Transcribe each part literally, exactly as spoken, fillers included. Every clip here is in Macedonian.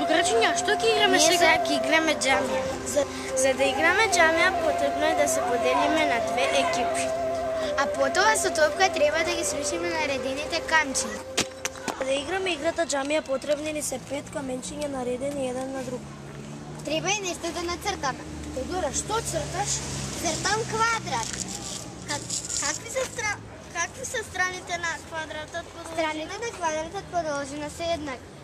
Покрачиња, што ќе играме Ние сега? сега ќе играме џамија. За, за да играме џамија потребно е да се поделиме на две екипи. А потоа со топка треба да ги срушиме наредените камчи. За да играме играта џамија потребни ни се пет каменчиња наредени еден на друг. Треба и нешто да нацртаме. Теодора, што црташ? Цртам квадрат. Как, какви се стра... какви се страните на квадратот? Страните на квадратот подолжина се еднакви.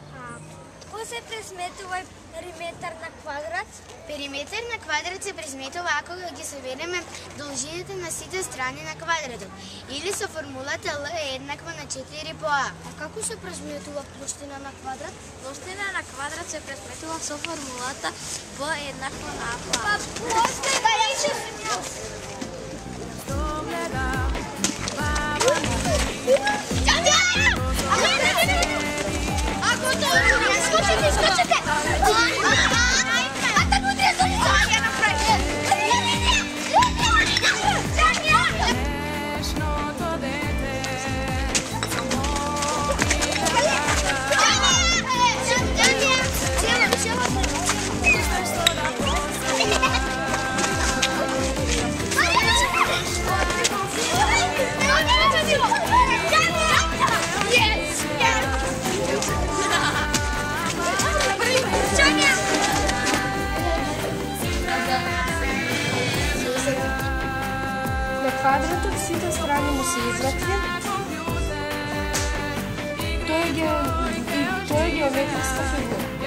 Кој се пресметува периметар на квадрат? Периметар на квадрат се пресметува ако ги собереме должините на сите страни на квадратот или со формулата Л е еднаква на четири по А. А како се пресметува плоштина на квадрат? Плоштина на квадрат се пресметува со формулата Б еднаква на А по А. Па плоштина рече Скочите, скочите! А так утре за ќе направи. Квадратот сите страни му се извртви. Тој е ге... тој е геометриска фигура.